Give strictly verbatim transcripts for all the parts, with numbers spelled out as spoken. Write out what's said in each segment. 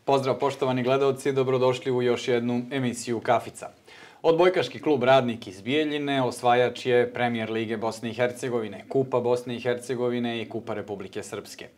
Pozdrav poštovani gledalci, dobrodošli u još jednu emisiju Kafica. Odbojkaški klub Radnik iz Bijeljine osvajač je Premijer Lige Bosne i Hercegovine, Kupa Bosne i Hercegovine i Kupa Republike Srpske.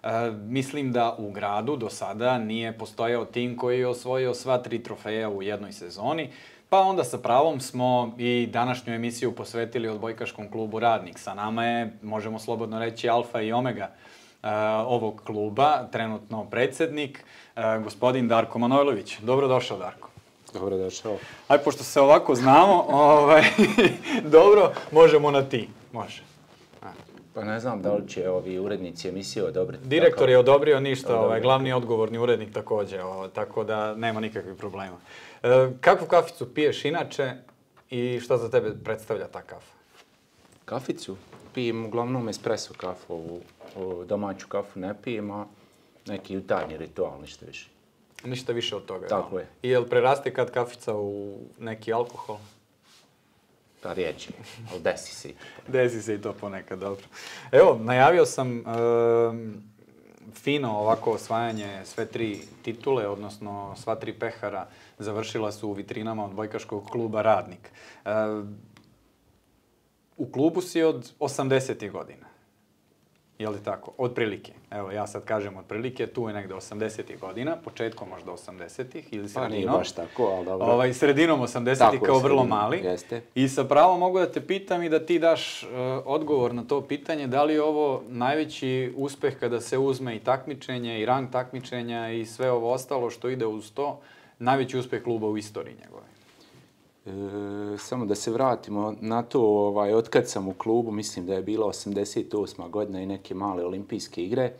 E, mislim da u gradu do sada nije postojao tim koji je osvojio sva tri trofeja u jednoj sezoni, pa onda sa pravom smo i današnju emisiju posvetili odbojkaškom klubu Radnik. Sa nama je, možemo slobodno reći, alfa i omega uh, ovog kluba, trenutno predsjednik, uh, gospodin Darko Manojlović. Dobrodošao, Darko. Dobrodošao. Aj, pošto se ovako znamo, ovaj, dobro, možemo na ti. Može. Pa ne znam da li će ovi urednici emisije odobriti. Direktor je odobrio ništa, ovaj, glavni odgovorni urednik također, ovaj, tako da nema nikakvih problema. E, kakvu kaficu piješ inače i šta za tebe predstavlja ta kafa? Kaficu? Pijem uglavnom espresso kafu, ovu, ovu domaću kafu ne pijem, a neki jutarnji ritual, ništa više. Ništa više od toga. Tako no? je. I jel preraste kad kafica u neki alkohol? Pa riječi, ali desi se i to. Desi se i to ponekad, dobro. Evo, najavio sam e, fino ovako osvajanje sve tri titule, odnosno sva tri pehara završila su u vitrinama odbojkaškog kluba Radnik. E, u klubu si od osamdesetih godina. Je li tako? Otprilike. Evo, ja sad kažem otprilike, tu je negde osamdesetih godina, početkom možda osamdesetih ili sredinom. Pa nije baš tako, ali dobro. Ovaj, sredinom osamdesetih kao vrlo sredinom, mali. Jeste. I sa pravom mogu da te pitam i da ti daš uh, odgovor na to pitanje, da li je ovo najveći uspeh kada se uzme i takmičenje i rang takmičenja i sve ovo ostalo što ide uz to, najveći uspeh kluba u istoriji njegove? E, samo da se vratimo na to, ovaj, otkad sam u klubu, mislim da je bila osamdeset osma godina i neke male olimpijske igre,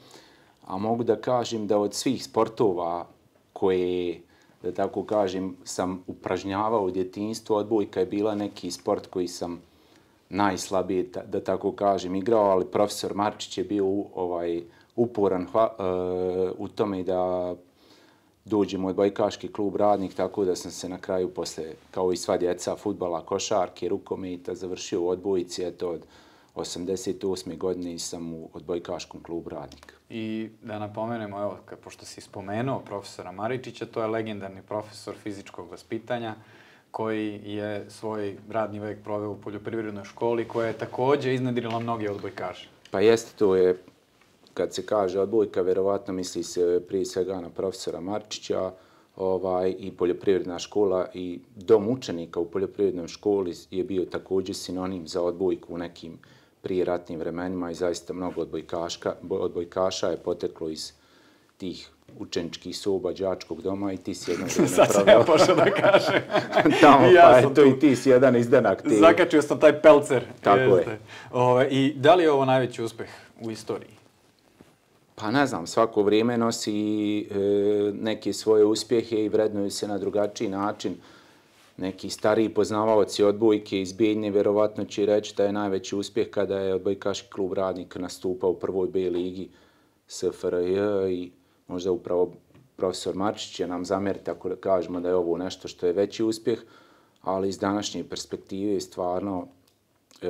a mogu da kažem da od svih sportova koje, da tako kažem, sam upražnjavao u djetinjstvu, odbojka je bila neki sport koji sam najslabije, da tako kažem, igrao, ali profesor Marčić je bio ovaj, uporan hva, uh, u tome da dođem u odbojkaški klub Radnik, tako da sam se na kraju posle, kao i sva djeca, fudbala, košarke, rukometa, završio u odbojci. Eto, od osamdeset osme godine sam u odbojkaškom klubu Radnik. I da napomenemo, evo, pošto si spomenuo profesora Maričića, to je legendarni profesor fizičkog vaspitanja koji je svoj radni vek proveo u poljoprivrednoj školi, koja je također iznedrila mnoge odbojkaše. Pa jeste, to je, kad se kaže odbojka, verovatno misli se prije svega na profesora Marčića, ovaj, i poljoprivredna škola i dom učenika u poljoprivrednoj školi je bio također sinonim za odbojku u nekim prijeratnim vremenima i zaista mnogo odbojkaška, odbojkaša je poteklo iz tih učeničkih soba, đačkog doma i ti si jedan vrijeme Sad sam ja pošao da kažem. Tamo, ja pa sam eto tu. i ti si jedan izdanak. Ti. Zakačio sam taj pelcer. Tako Jeste. je. Ove, I da li je ovo najveći uspeh u istoriji? Pa ne znam, svako vrijeme nosi e, neke svoje uspjehe i vrednuju se na drugačiji način. Neki stariji poznavaoci odbojke iz Bijeljine vjerovatno će reći da je najveći uspjeh kada je odbojkaški klub Radnik nastupao u prvoj B ligi S F R J i možda upravo profesor Marčić će nam zamjeriti ako kažemo da je ovo nešto što je veći uspjeh, ali iz današnje perspektive stvarno e,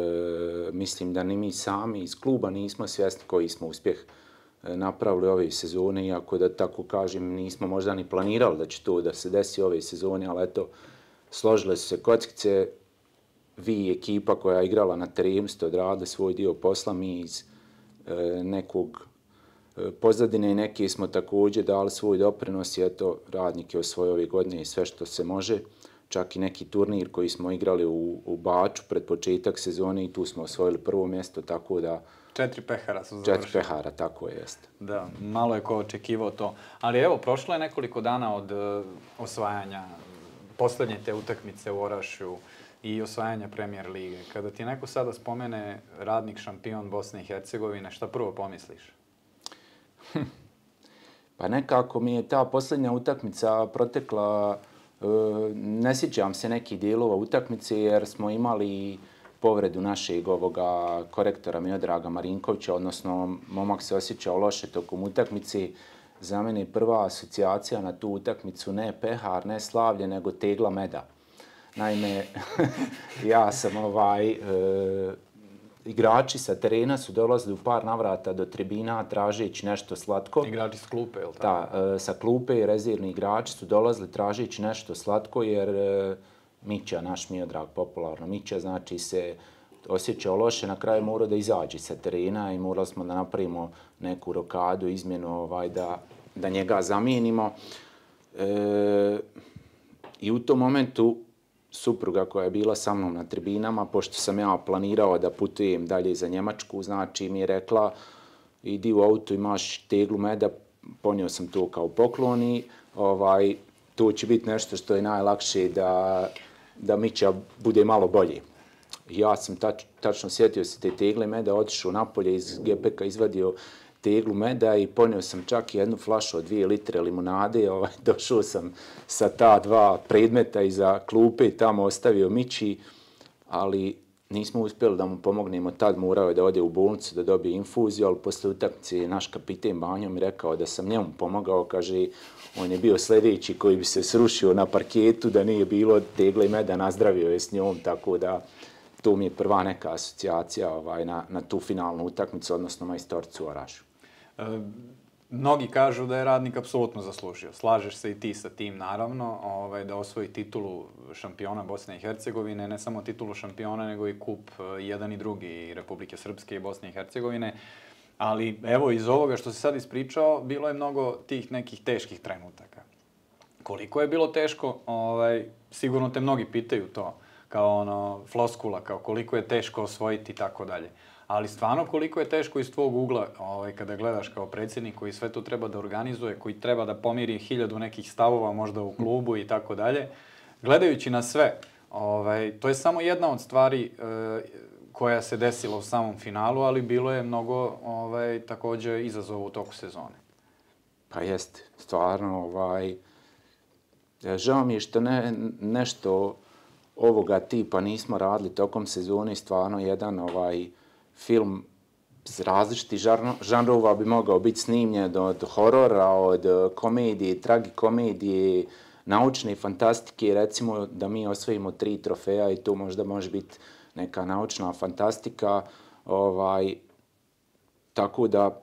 mislim da ni mi sami iz kluba nismo svjesni koji smo uspjeh napravili ove sezone, iako da tako kažem nismo možda ni planirali da će to da se desi ove sezone, ali eto, složile su se kockice, vi ekipa koja je igrala na terenu ste odradili svoj dio posla, mi iz e, nekog e, pozadine i neke smo također dali svoj doprinos i eto, Radnik je osvojio ove godine i sve što se može, čak i neki turnir koji smo igrali u, u Baču pred početak sezone i tu smo osvojili prvo mjesto, tako da Četiri pehara su završili. Četiri pehara, tako je, jeste. Da, malo je ko očekivao to. Ali evo, prošlo je nekoliko dana od uh, osvajanja posljednje te utakmice u Orašju i osvajanja Premijer Lige. Kada ti neko sada spomene Radnik šampion Bosne i Hercegovine, šta prvo pomisliš? Hm. Pa nekako mi je ta posljednja utakmica protekla, uh, ne sjećam se nekih dijelova utakmice jer smo imali povredu našeg ovoga korektora Miodraga Marinkovića, odnosno momak se osjećao loše tokom utakmice. Za mene prva asocijacija na tu utakmicu ne pehar, ne slavlje, nego tegla meda. Naime, ja sam ovaj, e, igrači sa terena su dolazili u par navrata do tribina tražeći nešto slatko. Igrači s klupe, je li tako? Da, sa klupe i rezervni igrači su dolazili tražeći nešto slatko jer Mića, naš Miodrag, popularno Mića, znači se osjećao loše, na kraju morao da izađe sa terena i morali smo da napravimo neku rokadu, izmjenu ovaj, da, da njega zamijenimo. E, I u tom momentu supruga koja je bila sa mnom na tribinama, pošto sam ja planirao da putujem dalje za Njemačku, znači mi je rekla idi u auto, imaš teglu meda, ponio sam to kao poklon i ovaj, to će biti nešto što je najlakše da, da Mića bude malo bolji. Ja sam tač, tačno sjetio se te tegle meda, otišao napolje iz gepeka, izvadio teglu meda i ponio sam čak jednu flašu od dvije litre limunade. Ovaj, došao sam sa ta dva predmeta iza klupe i tamo ostavio Mići, ali nismo uspjeli da mu pomognemo. Tad morao je da ode u bolnicu da dobije infuziju, ali posle utakmice je naš kapiten Banjo mi rekao da sam njemu pomogao. Kaže, on je bio sljedeći koji bi se srušio na parketu da nije bilo tegle meda, nazdravio je s njom, tako da to mi je prva neka asocijacija ovaj, na, na tu finalnu utakmicu, odnosno majstorcu u Orašu. E, mnogi kažu da je Radnik apsolutno zaslužio. Slažeš se i ti sa tim, naravno, ovaj, da osvoji titulu šampiona Bosne i Hercegovine, ne samo titulu šampiona, nego i kup jedan i drugi, i Republike Srpske i Bosne i Hercegovine. Ali evo, iz ovoga što si sad ispričao, bilo je mnogo tih nekih teških trenutaka. Koliko je bilo teško, ovaj, sigurno te mnogi pitaju to, kao ono, floskula, kao koliko je teško osvojiti i tako dalje. Ali stvarno koliko je teško iz tvog ugla, ovaj, kada gledaš kao predsjednik koji sve to treba da organizuje, koji treba da pomiri hiljadu nekih stavova možda u klubu i tako dalje, gledajući na sve, ovaj, to je samo jedna od stvari e, koja se desila u samom finalu, ali bilo je mnogo ovaj, također izazova u toku sezone. Pa jeste, stvarno, ovaj, žao mi je što ne, nešto ovoga tipa nismo radili tokom sezone, stvarno jedan ovaj film s različitih žanrova bi mogao biti snimljen od horora, od komedije, tragikomedije, naučne fantastike, recimo da mi osvojimo tri trofeja i to možda može biti neka naučna fantastika, ovaj, tako da,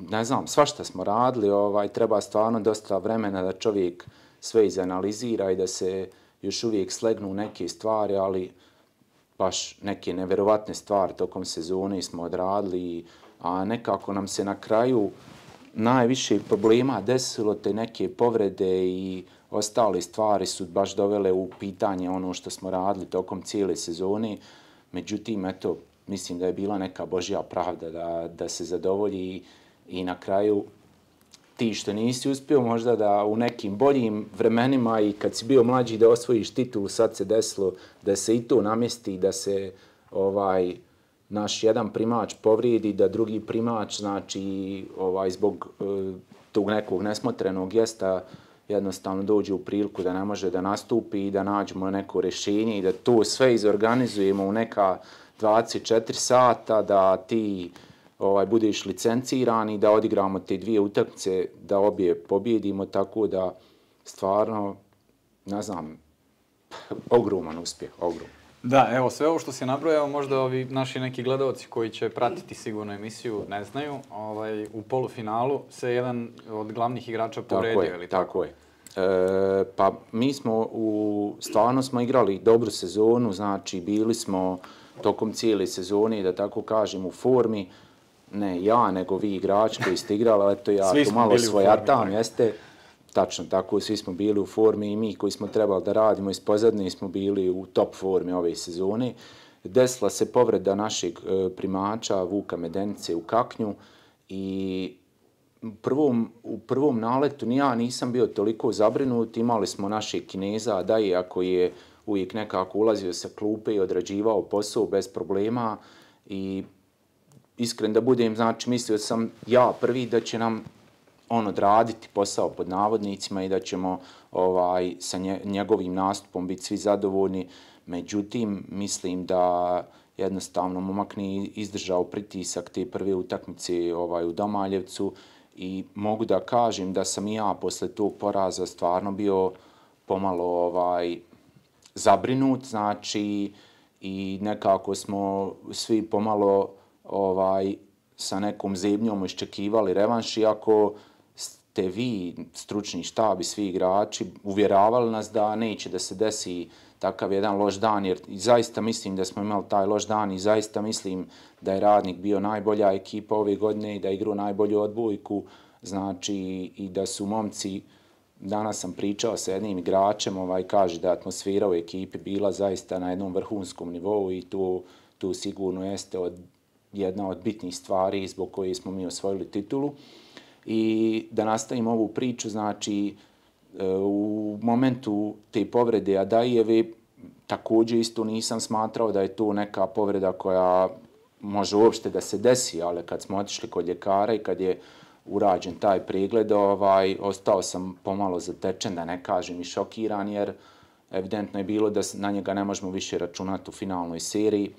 ne znam, svašta smo radili, ovaj, treba stvarno dosta vremena da čovjek sve izanalizira i da se još uvijek slegnu neke stvari, ali baš neke neverovatne stvari tokom sezone smo odradili, a nekako nam se na kraju najviše problema desilo, te neke povrede i ostale stvari su baš dovele u pitanje ono što smo radili tokom cijele sezone. Međutim, eto, mislim da je bila neka božja pravda da, da se zadovolji i na kraju ti što nisi uspio možda da u nekim boljim vremenima i kad si bio mlađi da osvojiš titulu, sad se desilo da se i to namjesti, da se ovaj naš jedan primač povrijedi, da drugi primač, znači, ovaj, zbog uh, tog nekog nesmotrenog gesta jednostavno dođe u priliku da ne može da nastupi i da nađemo neko rješenje i da to sve izorganizujemo u neka dvadeset četiri sata, da ti ovaj, budeš licenciran i da odigramo te dvije utakmice, da obje pobjedimo, tako da stvarno, ne znam, ogroman uspjeh, ogroman. Da, evo, sve ovo što si nabrojao, možda ovi naši neki gledalci koji će pratiti sigurno emisiju ne znaju, ovaj, u polufinalu se jedan od glavnih igrača povredio, tako je, ili tako? Tako je. E, pa mi smo, u, stvarno smo igrali dobru sezonu, znači bili smo tokom cijele sezone, da tako kažem, u formi, ne ja, nego vi igrači koji ste igrali, ali to ja to malo svojatam, jeste. Tačno tako, svi smo bili u formi i mi koji smo trebali da radimo iz pozadnje smo bili u top formi ove sezone. Desila se povreda našeg primača Vuka Medenice u Kaknju i u prvom, u prvom naletu ni ja nisam bio toliko zabrinut. Imali smo našeg Kineza, da je ako je uvijek nekako ulazio sa klupe i odrađivao posao bez problema i iskren da budem, znači mislio sam ja prvi da će nam on odraditi posao pod navodnicima i da ćemo ovaj, sa nje, njegovim nastupom biti svi zadovoljni. Međutim, mislim da jednostavno momak nije izdržao pritisak te prve utakmice ovaj, u Domaljevcu i mogu da kažem da sam i ja posle tog poraza stvarno bio pomalo ovaj, zabrinut. Znači, i nekako smo svi pomalo ovaj, sa nekom zebnjom iščekivali revanš, iako ste vi, stručni štab i svi igrači, uvjeravali nas da neće da se desi takav jedan loš dan, jer zaista mislim da smo imali taj loš dan i zaista mislim da je Radnik bio najbolja ekipa ove godine i da je igrao najbolju odbojku, znači i da su momci, danas sam pričao sa jednim igračem, ovaj, kaže da je atmosfera u ekipi bila zaista na jednom vrhunskom nivou i tu, tu sigurno jeste od, jedna od bitnih stvari zbog koje smo mi osvojili titulu. I da nastavim ovu priču, znači u momentu te povrede Adajeve također isto nisam smatrao da je to neka povreda koja može uopšte da se desi, ali kad smo otišli kod ljekara i kad je urađen taj pregled, ovaj, ostao sam pomalo zatečen, da ne kažem i šokiran, jer evidentno je bilo da na njega ne možemo više računati u finalnoj seriji.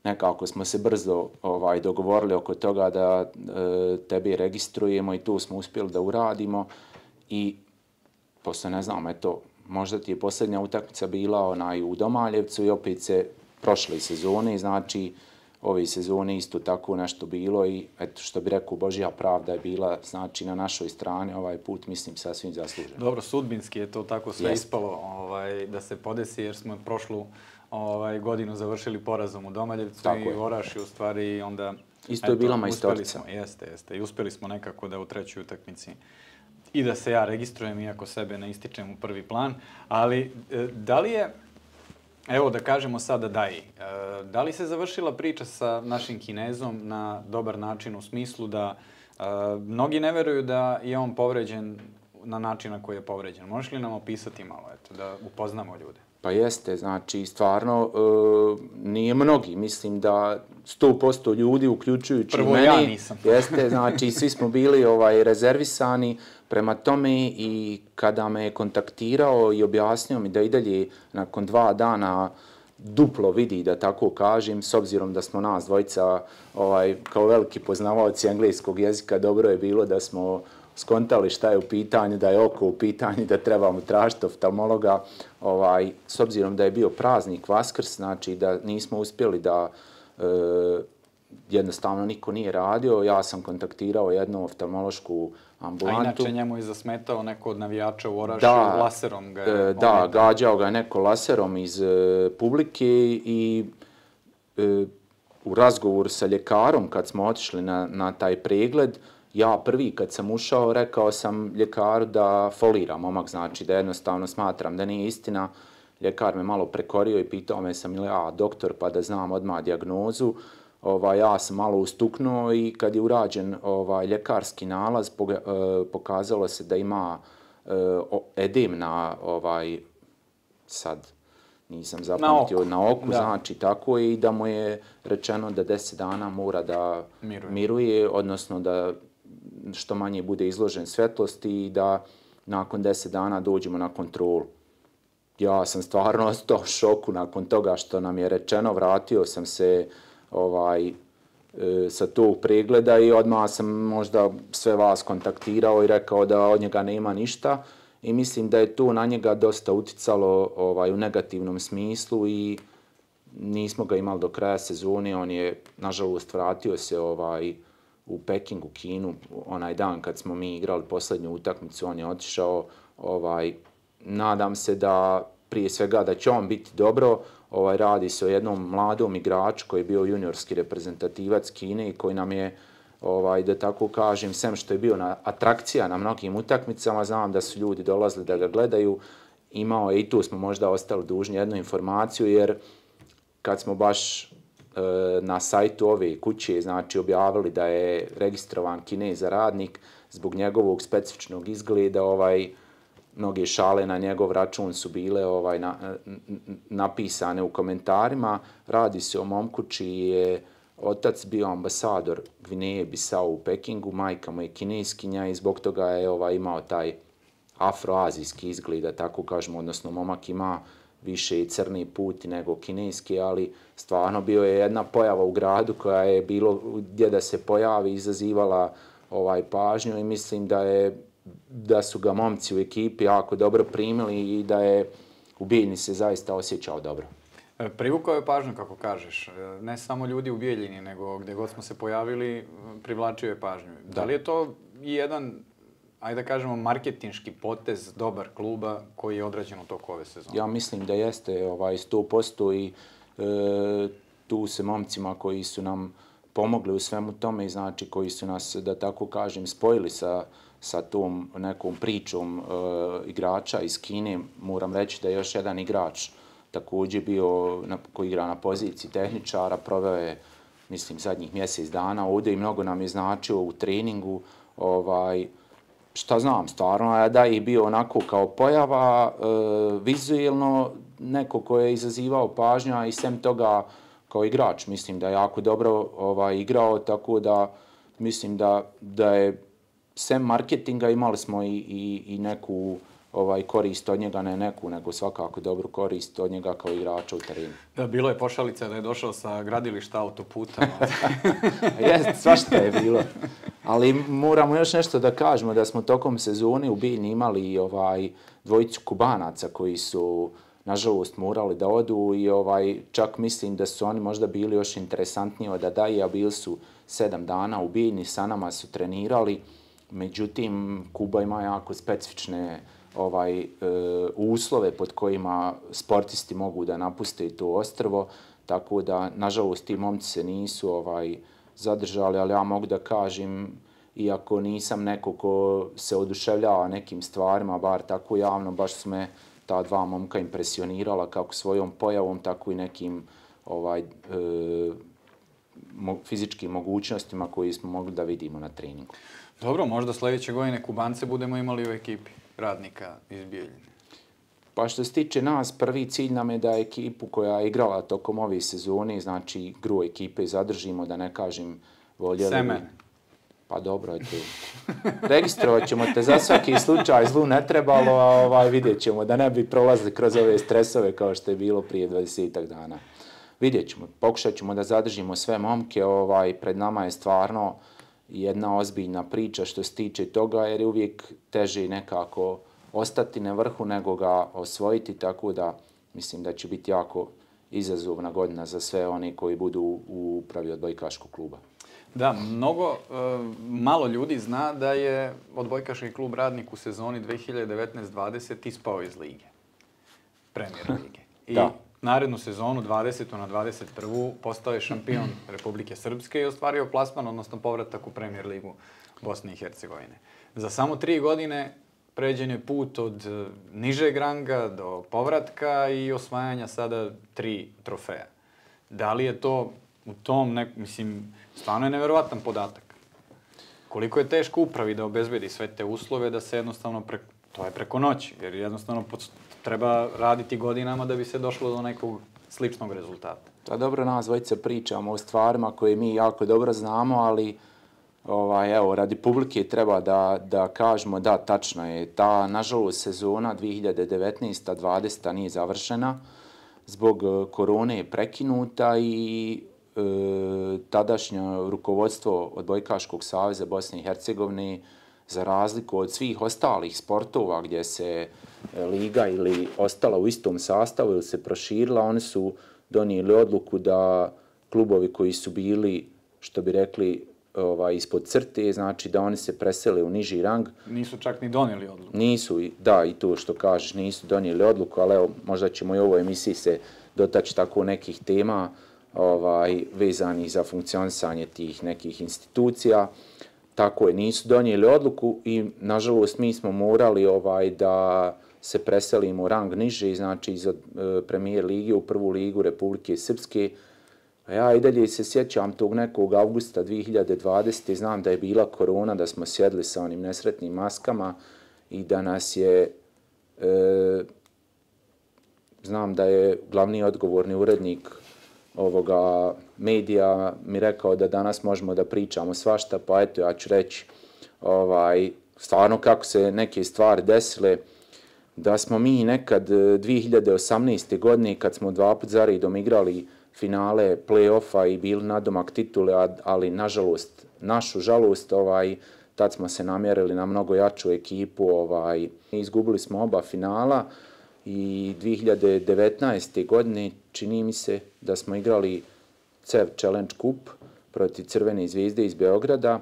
Nekako smo se brzo ovaj, dogovorili oko toga da e, tebe registrujemo i to smo uspjeli da uradimo. I posle, ne znam, eto, možda ti je posljednja utakmica bila onaj u Domaljevcu i opet se prošle sezone, znači ove sezone isto tako nešto bilo i eto, što bi rekao, Božja pravda je bila, znači na našoj strani ovaj put, mislim, sasvim zasluženo. Dobro, sudbinski je to tako sve Jest. ispalo ovaj, da se podesi, jer smo prošlu ovaj, godinu završili porazom u Domaljevcu tako i je. Oraši u stvari onda... Isto eto, je bila majstorica. Jeste, jeste. I uspjeli smo nekako da u trećoj utakmici i da se ja registrujem, iako sebe ne ističem u prvi plan, ali da li je, evo da kažemo sada Daji, da li se završila priča sa našim Kinezom na dobar način u smislu da mnogi ne veruju da je on povređen na način na koji je povređen? Možeš li nam opisati malo, eto, da upoznamo ljude? Pa jeste, znači stvarno e, nije mnogi, mislim da sto posto ljudi, uključujući Prvo meni, ja nisam. jeste, znači svi smo bili ovaj, rezervisani prema tome i kada me je kontaktirao i objasnio mi da i dalje nakon dva dana duplo vidi, da tako kažem, s obzirom da smo nas dvojica ovaj, kao veliki poznavaoci engleskog jezika, dobro je bilo da smo skontali šta je u pitanju, da je oko u pitanju, da trebamo tražiti oftalmologa. Ovaj, s obzirom da je bio praznik Vaskrs, znači da nismo uspjeli da e, jednostavno niko nije radio, ja sam kontaktirao jednu oftalmološku ambulantu. A inače njemu je zasmetao neko od navijača u Orašju, da, laserom ga je... E, da, gađao ga neko laserom iz e, publike i e, u razgovoru sa ljekarom kad smo otišli na, na taj pregled, ja prvi kad sam ušao rekao sam ljekaru da folira momak, znači da jednostavno smatram da nije istina. Ljekar me malo prekorio i pitao me sam ili ja doktor pa da znam odmah dijagnozu. Ovaj, ja sam malo ustuknuo i kad je urađen ovaj, ljekarski nalaz poga, eh, pokazalo se da ima eh, edem na ovaj, sad nisam zapamtio, na oku, na oku znači tako i da mu je rečeno da deset dana mora da miruje, miruje odnosno da što manje bude izložen svetlosti i da nakon deset dana dođemo na kontrolu. Ja sam stvarno ostao u šoku nakon toga što nam je rečeno, vratio sam se ovaj, e, sa tog pregleda i odmah sam možda sve vas kontaktirao i rekao da od njega nema ništa i mislim da je to na njega dosta uticalo ovaj, u negativnom smislu i nismo ga imali do kraja sezone, on je nažalost vratio se ovaj, u Pekingu, Kinu, onaj dan kad smo mi igrali posljednju utakmicu, on je otišao, ovaj, nadam se da prije svega da će on biti dobro, ovaj, radi se o jednom mladom igraču koji je bio juniorski reprezentativac Kine i koji nam je, ovaj, da tako kažem, sem što je bio na atrakcija na mnogim utakmicama, znam da su ljudi dolazili da ga gledaju, imao je i tu smo možda ostali dužni jednu informaciju, jer kad smo baš na sajtu ove kuće, znači objavili da je registrovan Kinez za Radnik zbog njegovog specifičnog izgleda, ovaj, mnoge šale na njegov račun su bile ovaj, na, napisane u komentarima. Radi se o momku čiji je otac bio ambasador Gvineje Bisau u Pekingu, majka mu je Kineskinja i zbog toga je ovaj, imao taj afroazijski izgled, da tako kažemo, odnosno momak ima više i crni puti nego kineski, ali stvarno bio je jedna pojava u gradu koja je bilo gdje da se pojavi, izazivala ovaj pažnju i mislim da je da su ga momci u ekipi jako dobro primili i da je u Bijeljni se zaista osjećao dobro. Privukao je pažnju, kako kažeš, ne samo ljudi u Bijeljini, nego gdje god smo se pojavili, privlačio je pažnju. Da, da li je to jedan, ajde da kažemo, marketinški potez dobar kluba koji je odrađen u toku ove sezone? Ja mislim da jeste ovaj, sto posto i e, tu se momcima koji su nam pomogli u svemu tome, znači koji su nas, da tako kažem, spojili sa, sa tom nekom pričom e, igrača iz Kine. Moram reći da je još jedan igrač također bio na, koji igra na poziciji tehničara, proveo je, mislim, zadnjih mjesec dana ovdje i mnogo nam je značio u treningu. Ovaj, šta znam, stvarno da je bio onako kao pojava, e, vizuelno neko ko je izazivao pažnju, a i sem toga kao igrač, mislim da je jako dobro ovaj, igrao, tako da mislim da, da je sem marketinga imali smo i, i, i neku ovaj, korist od njega, ne neku, nego svakako dobru korist od njega kao igrača u terenu. Da, bilo je pošalica da je došao sa gradilišta autoputa. Jest, svašta je bilo. Ali moramo još nešto da kažemo, da smo tokom sezone u Bijeljni imali ovaj, dvojicu Kubanaca koji su nažalost morali da odu i ovaj, čak mislim da su oni možda bili još interesantniji od Adaji, a bili su sedam dana u Bijeljni, sa nama su trenirali. Međutim, Kuba ima jako specifične ovaj, e, uslove pod kojima sportisti mogu da napuste to ostrvo, tako da, nažalost, ti momci se nisu ovaj, zadržali, ali ja mogu da kažem, iako nisam neko ko se oduševljava nekim stvarima, bar tako javno, baš su me ta dva momka impresionirala kako svojom pojavom, tako i nekim ovaj, e, mo, fizičkim mogućnostima koje smo mogli da vidimo na treningu. Dobro, možda sljedeće godine Kubance budemo imali u ekipi Radnika iz Bijeljine. Pa što se tiče nas, prvi cilj nam je da ekipu koja je igrala tokom ove sezone, znači gru ekipe, zadržimo, da ne kažem voljeli. Semen. Pa dobro, eto. Registrovat ćemo te za svaki slučaj, zlu ne trebalo, a ovaj, vidjet ćemo da ne bi prolazili kroz ove stresove kao što je bilo prije dvadesetak dana. Vidjet ćemo, pokušat ćemo da zadržimo sve momke, ovaj, pred nama je stvarno jedna ozbiljna priča što se tiče toga, jer je uvijek teže nekako ostati na vrhu nego ga osvojiti, tako da mislim da će biti jako izazovna godina za sve one koji budu u upravi odbojkaškog kluba. Da, mnogo, e, malo ljudi zna da je odbojkaški klub Radnik u sezoni dve hiljade devetnaeste dvadeset ispao iz lige, Premier lige. I da. Narednu sezonu, dvadesetu na dvadeset prvu postao je šampion Republike Srpske i ostvario plasman, odnosno povratak u Premier ligu Bosne i Hercegovine. Za samo tri godine pređen je put od nižeg ranga do povratka i osvajanja sada tri trofeja. Da li je to u tom, nek, mislim, stvarno je neverovatan podatak. Koliko je teško upravi da obezbedi sve te uslove da se jednostavno, pre, to je preko noći, jer jednostavno treba raditi godinama da bi se došlo do nekog sličnog rezultata. Da, dobro, nas dvojice pričamo o stvarima koje mi jako dobro znamo, ali ovaj, evo, radi publike treba da, da kažemo da, tačno je. Ta, nažalost, sezona dve hiljade devetnaeste dvadeseta nije završena. Zbog korone je prekinuta i e, tadašnje rukovodstvo Odbojkaškog saveza Bosne i Hercegovine, za razliku od svih ostalih sportova gdje se liga ili ostala u istom sastavu ili se proširila, oni su donijeli odluku da klubovi koji su bili, što bi rekli, ovaj, ispod crte, znači da oni se presele u niži rang. Nisu čak ni donijeli odluku. Nisu, da, i to što kažeš, nisu donijeli odluku, ali evo, možda ćemo i u ovoj emisiji se dotaći tako nekih tema ovaj, vezanih za funkcionisanje tih nekih institucija. Tako je, nisu donijeli odluku i, nažalost, mi smo morali ovaj, da se preselimo rang niže, znači iz e, Premier lige u prvu ligu Republike Srpske. A ja i dalje se sjećam tog nekog avgusta dve hiljade dvadesete. Znam da je bila korona, da smo sjedli sa onim nesretnim maskama i da nas je, e, znam da je glavni odgovorni urednik ovoga medija mi rekao da danas možemo da pričamo svašta, pa eto ja ću reći ovaj, stvarno kako se neke stvari desile, da smo mi nekad dve hiljade osamnaeste. godine kad smo dva put za redom igrali finale play-offa i bili nadomak titule, ali nažalost, našu žalost, ovaj, tad smo se namjerili na mnogo jaču ekipu, ovaj, izgubili smo oba finala. i dvije hiljade devetnaeste. godine čini mi se da smo igrali C E V Challenge Cup protiv Crvene zvijezde iz Beograda.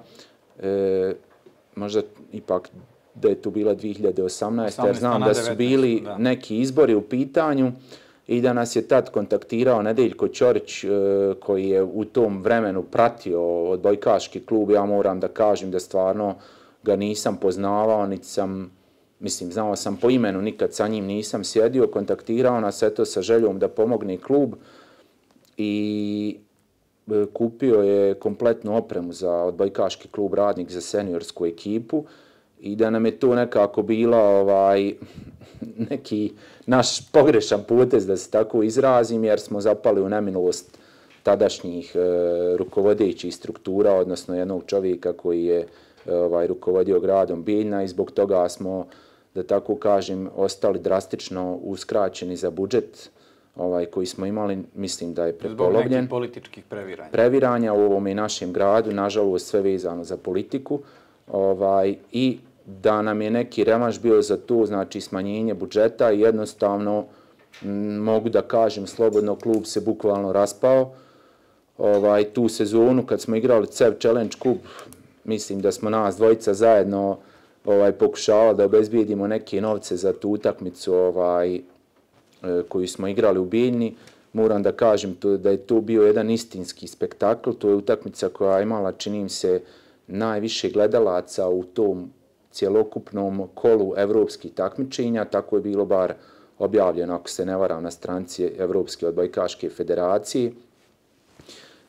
E, možda ipak da je tu bila dvije hiljade osamnaeste. jer znam da su bili da. neki izbori u pitanju i da nas je tad kontaktirao Nedeljko Ćorić e, koji je u tom vremenu pratio odbojkaški klub. Ja moram da kažem da stvarno ga nisam poznavao, niti sam, mislim, znao sam po imenu, nikad sa njim nisam sjedio, kontaktirao nas eto sa željom da pomogne klub i e, kupio je kompletnu opremu za odbojkaški klub Radnik za seniorsku ekipu i da nam je to nekako bila ovaj, neki naš pogrešan potez, da se tako izrazim, jer smo zapali u nemilost tadašnjih e, rukovodećih struktura, odnosno jednog čovjeka koji je ovaj, rukovodio gradom Bijeljina i zbog toga smo, da tako kažem, ostali drastično uskraćeni za budžet ovaj, koji smo imali, mislim da je prepolovljen. Zbog nekih političkih previranja. Previranja u ovom i našem gradu, nažalost sve vezano za politiku. Ovaj, I da nam je neki revanš bio za to, znači smanjenje budžeta i jednostavno m, mogu da kažem slobodno, klub se bukvalno raspao. Ovaj, tu sezonu kad smo igrali C E V Challenge Cup, mislim da smo nas dvojica zajedno ovaj, pokušavali da obezbijedimo neke novce za tu utakmicu ovaj, e, koju smo igrali u Bijeljini. Moram da kažem to, da je to bio jedan istinski spektakl. To je utakmica koja je imala, čini mi se, najviše gledalaca u tom cjelokupnom kolu evropskih takmičenja. Tako je bilo bar objavljeno, ako se ne varam, na stranici Evropske odbojkaške federacije.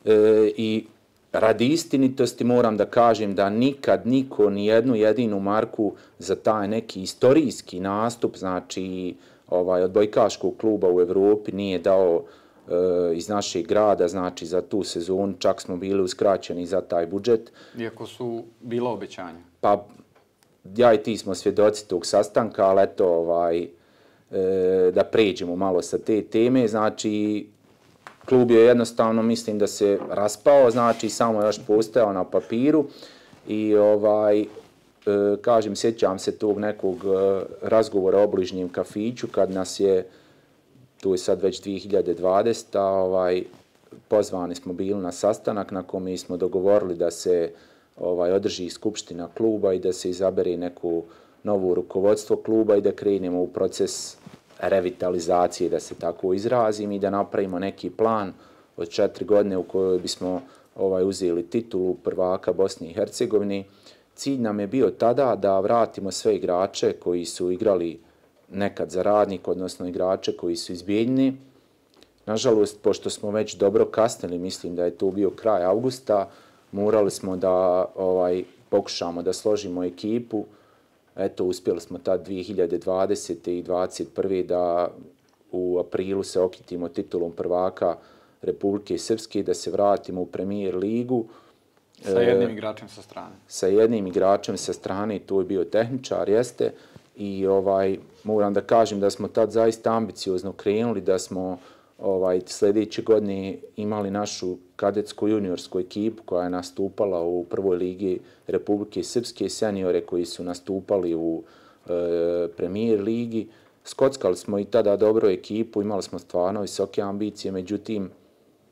E, I radi istinitosti moram da kažem da nikad niko ni jednu jedinu marku za taj neki istorijski nastup, znači ovaj, odbojkaškog kluba u Evropi nije dao e, iz našeg grada, znači za tu sezonu, čak smo bili uskraćeni za taj budžet. Iako su bila obećanja. Pa ja i ti smo svjedoci tog sastanka, ali eto, ovaj, e, da pređemo malo sa te teme, znači klub je jednostavno, mislim da se raspao, znači samo još postojao na papiru i ovaj, e, kažem, sjećam se tog nekog e, razgovora o obližnjem kafiću kad nas je, tu je sad već dvije hiljade dvadesete. ovaj, pozvani smo bili na sastanak na kome smo dogovorili da se ovaj, održi skupština kluba i da se izabere neko novo rukovodstvo kluba i da krenemo u proces revitalizacije, da se tako izrazim, i da napravimo neki plan od četiri godine u kojoj bismo ovaj, uzeli titulu prvaka Bosne i Hercegovine. Cilj nam je bio tada da vratimo sve igrače koji su igrali nekad za Radnik, odnosno igrače koji su iz Bijeljine. Nažalost, pošto smo već dobro kasnili, mislim da je to bio kraj avgusta, morali smo da ovaj, pokušamo da složimo ekipu. Eto, uspjeli smo tad dvije hiljade dvadesete. i dvadeset prve da u aprilu se okitimo titulom prvaka Republike Srpske, da se vratimo u Premier ligu. Sa jednim igračem sa strane. Sa jednim igračem sa strane, to je bio tehničar, jeste. I ovaj, moram da kažem da smo tad zaista ambiciozno krenuli, da smo ovaj, sljedeće godine imali našu kadetsku juniorsku ekipu koja je nastupala u prvoj ligi Republike Srpske, seniore koji su nastupali u e, Premier ligi. Skockali smo i tada dobro ekipu, imali smo stvarno visoke ambicije, međutim,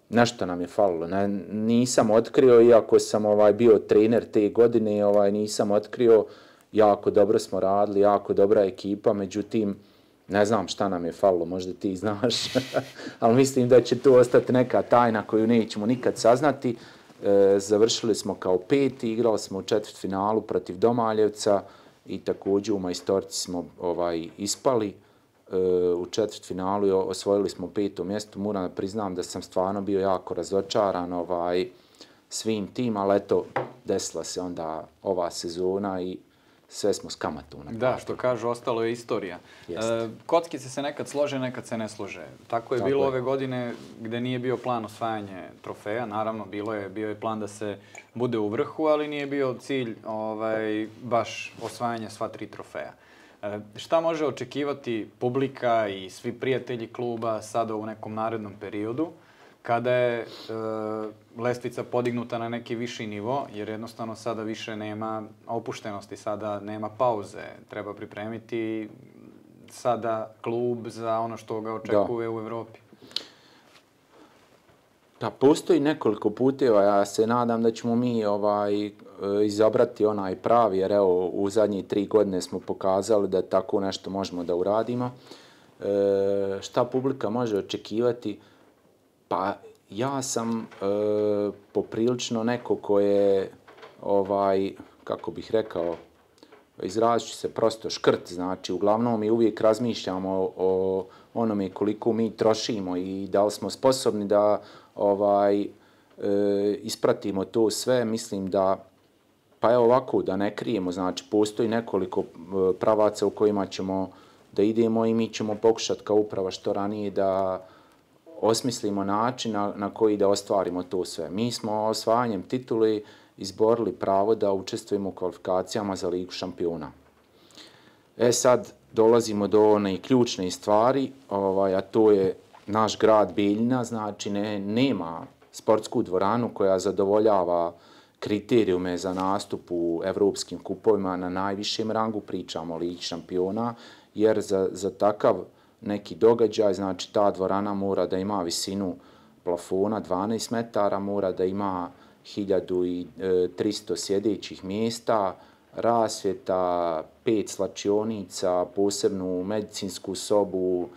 nešto nam je falilo. Ne, nisam otkrio, iako sam ovaj, bio trener te godine, ovaj, nisam otkrio, jako dobro smo radili, jako dobra ekipa, međutim, ne znam šta nam je falilo, možda ti znaš, ali mislim da će to ostati neka tajna koju nećemo nikad saznati. E, završili smo kao peti, igrali smo u četvrtfinalu protiv Domaljevca i također u majstorci smo ovaj, ispali. E, u četvrtfinalu osvojili smo peto mjesto. Moram da priznam da sam stvarno bio jako razočaran ovaj, svim tim, ali eto, desila se onda ova sezona i sve smo s kamatom. Da, što kažu, ostalo je istorija. E, kockice se nekad slože, nekad se ne slože. Tako je Tako bilo je. ove godine gde nije bio plan osvajanje trofeja. Naravno, bilo je, bio je plan da se bude u vrhu, ali nije bio cilj ovaj, baš osvajanje sva tri trofeja. E, šta može očekivati publika i svi prijatelji kluba sada u nekom narednom periodu, kada je e, lestvica podignuta na neki viši nivo, jer jednostavno sada više nema opuštenosti, sada nema pauze, treba pripremiti sada klub za ono što ga očekuje u Evropi? Pa postoji nekoliko puteva, ja se nadam da ćemo mi ovaj, izabrati onaj pravi, jer evo u zadnjih tri godine smo pokazali da tako nešto možemo da uradimo. E, šta publika može očekivati? Pa ja sam e, poprilično neko ko je, ovaj, kako bih rekao, izrazit ću se prosto škrt, znači uglavnom mi uvijek razmišljamo o onome koliko mi trošimo i da li smo sposobni da ovaj, e, ispratimo to sve. Mislim da, pa evo ovako, da ne krijemo, znači postoji nekoliko pravaca u kojima ćemo da idemo i mi ćemo pokušati kao uprava što ranije da osmislimo način na, na koji da ostvarimo to sve. Mi smo osvajanjem tituli izborili pravo da učestvujemo u kvalifikacijama za Ligu šampiona. E sad dolazimo do one ključne stvari, ovaj, a to je naš grad Bijeljina, znači ne, nema sportsku dvoranu koja zadovoljava kriterijume za nastup u evropskim kupovima na najvišem rangu, pričamo o Ligi šampiona, jer za, za takav neki događaj, znači ta dvorana mora da ima visinu plafona dvanaest metara, mora da ima hiljadu tristo sjedećih mjesta, rasvjeta, pet slačionica, posebnu medicinsku sobu,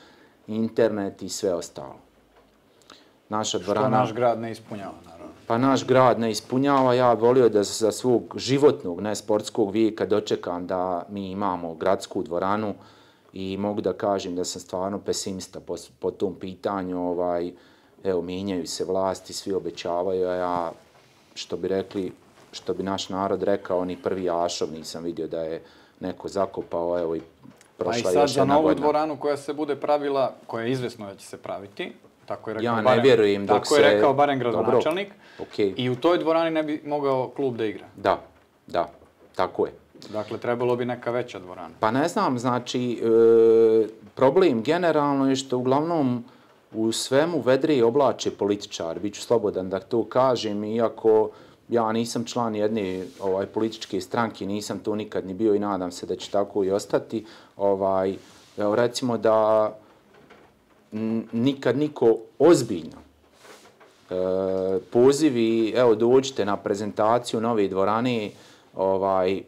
internet i sve ostalo. Naša dvorana, što naš grad ne ispunjava, naravno. Pa naš grad ne ispunjava. Ja volio da za svog životnog, ne sportskog vijeka dočekam da mi imamo gradsku dvoranu i mogu da kažem da sam stvarno pesimista po, po tom pitanju. Ovaj, evo, mijenjaju se vlasti, svi obećavaju, a ja, što bi rekli, što bi naš narod rekao, ni prvi ašov nisam vidio da je neko zakopao, evo i prošla još jedna godina. Pa i sad za novu dvoranu koja se bude pravila, koja je izvesno da će se praviti, tako je rekao, ja ne barem, vjerujem dok tako se... je rekao barem gradonačelnik, okay. I u toj dvorani ne bi mogao klub da igra. Da, da, tako je. Dakle, trebalo bi neka veća dvorana. Pa ne znam, znači, e, problem generalno je što uglavnom u svemu vedre i oblače političar, bit ću slobodan da to kažem, iako ja nisam član jedne ovaj, političke stranke, nisam to nikad ni bio i nadam se da će tako i ostati. Ovaj, evo, recimo da n, nikad niko ozbiljno e, pozivi, evo dođite na prezentaciju nove dvorane, ovaj,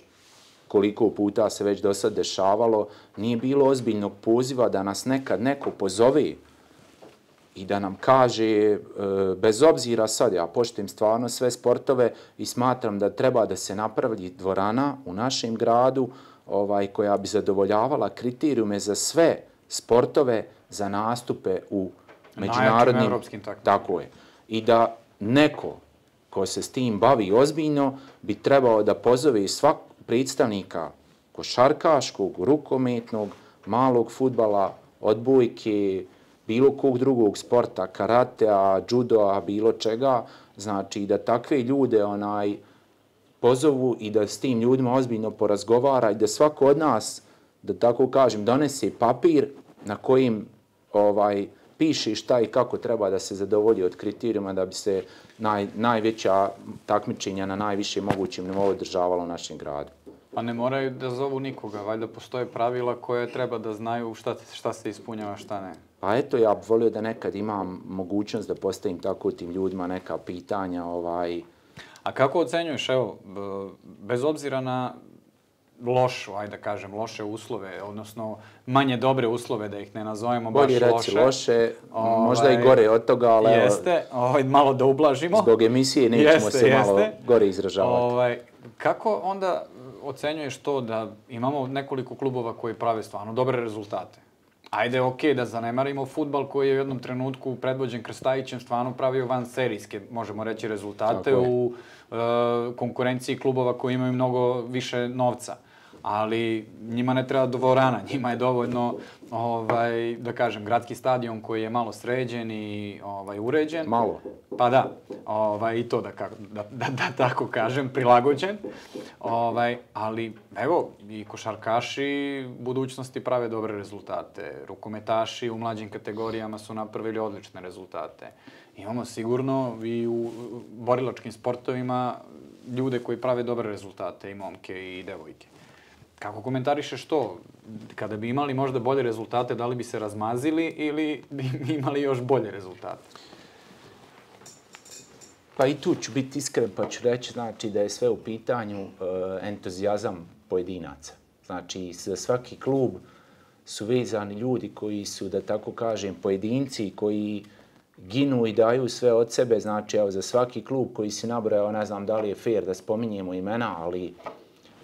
koliko puta se već do sad dešavalo, nije bilo ozbiljnog poziva da nas nekad neko pozove i da nam kaže, bez obzira sad, ja poštujem stvarno sve sportove i smatram da treba da se napravi dvorana u našem gradu ovaj, koja bi zadovoljavala kriterijume za sve sportove za nastupe u međunarodnim... evropskim takvim. Tako je. I da neko ko se s tim bavi ozbiljno bi trebao da pozove svak predstavnika košarkaškog, rukometnog, malog fudbala, odbojke, bilo kog drugog sporta, karatea, judoa, bilo čega, znači da takve ljude onaj pozovu i da s tim ljudima ozbiljno porazgovara i da svako od nas, da tako kažem, donese papir na kojim ovaj, piše šta i kako treba da se zadovolji od kriterijuma da bi se naj, najveća takmičenja na najvišem mogućem nivou održavala u našem gradu. Pa ne moraju da zovu nikoga, valjda postoje pravila koje treba da znaju šta, šta se ispunjava, šta ne. Pa eto, ja bih volio da nekad imam mogućnost da postavim tako tim ljudima neka pitanja. Ovaj... A kako ocenjuješ, evo, bez obzira na lošu, ajde da kažem, loše uslove, odnosno manje dobre uslove, da ih ne nazovemo baš loše. Bolje reci loše, ovaj, možda i gore od toga, ali jeste, ovaj, malo da ublažimo. Zbog emisije nećemo jeste, se jeste. malo gore izražavati. Ovaj, kako onda ocenjuješ to da imamo nekoliko klubova koji prave stvarno dobre rezultate? Ajde, okej, okay, da zanemarimo fudbal koji je u jednom trenutku predvođen Krstajićem stvarno pravio van serijske, možemo reći, rezultate u e, konkurenciji klubova koji imaju mnogo više novca. Ali njima ne treba dvorana, njima je dovoljno, ovaj, da kažem, gradski stadion koji je malo sređen i ovaj, uređen. Malo. Pa da, ovaj, i to da, da, da, da tako kažem, prilagođen. Ovaj, ali evo, i košarkaši budućnosti prave dobre rezultate. Rukometaši u mlađim kategorijama su napravili odlične rezultate. Imamo sigurno i u borilačkim sportovima ljude koji prave dobre rezultate, i momke i devojke. Kako komentarišeš to? Kada bi imali možda bolje rezultate, da li bi se razmazili ili bi imali još bolje rezultate? Pa i tu ću biti iskren pa ću reći znači, da je sve u pitanju uh, entuzijazam pojedinaca. Znači, za svaki klub su vezani ljudi koji su, da tako kažem, pojedinci koji ginu i daju sve od sebe. Znači, evo, za svaki klub koji si nabrojao, ne znam da li je fair da spominjemo imena, ali